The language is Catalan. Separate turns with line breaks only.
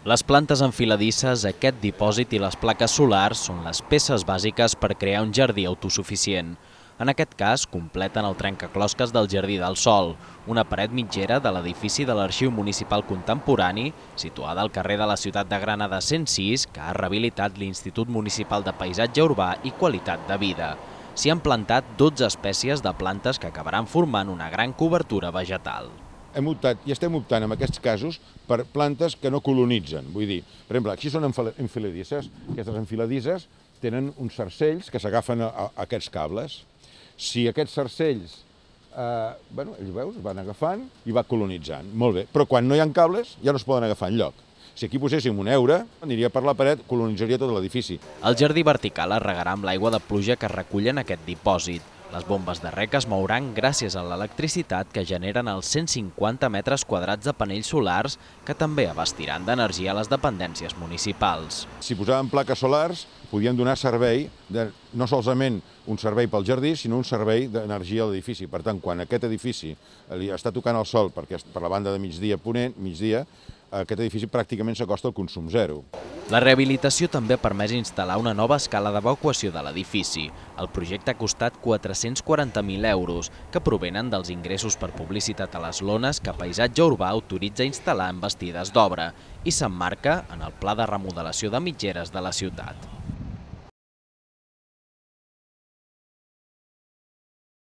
Les plantes enfiladisses, aquest dipòsit i les plaques solars són les peces bàsiques per crear un jardí autosuficient. En aquest cas, completen el trencaclosques del Jardí del Sol, una paret mitgera de l'edifici de l'Arxiu Municipal Contemporani, situada al carrer de la ciutat de Granada 106, que ha rehabilitat l'Institut Municipal de Paisatge Urbà i Qualitat de Vida. S'hi han plantat 12 espècies de plantes que acabaran formant una gran cobertura vegetal.
Hem optat i estem optant en aquests casos per plantes que no colonitzen. Vull dir, per exemple, aquí són enfiladisses. Aquestes enfiladisses tenen uns cercells que s'agafen a aquests cables. Si aquests cercells, ells veus, van agafant i va colonitzant. Molt bé, però quan no hi ha cables ja no es poden agafar enlloc. Si aquí poséssim un heure, aniria per la paret, colonitzaria tot l'edifici.
El jardí vertical es regarà amb l'aigua de pluja que recullen aquest dipòsit. Les bombes de reg es mouran gràcies a l'electricitat que generen els 150 metres quadrats de panells solars que també abastiran d'energia a les dependències municipals.
Si posàvem plaques solars, podíem donar servei, no solament un servei pel jardí, sinó un servei d'energia a l'edifici. Per tant, quan aquest edifici li està tocant el sol per la banda de migdia, aquest edifici pràcticament s'acosta al consum zero.
La rehabilitació també ha permès instal·lar una nova escala d'evacuació de l'edifici. El projecte ha costat 440.000 euros, que provenen dels ingressos per publicitat a les lones que Paisatge Urbà autoritza instal·lar en bastides d'obra i s'emmarca en el pla de remodelació de mitgeres de la ciutat.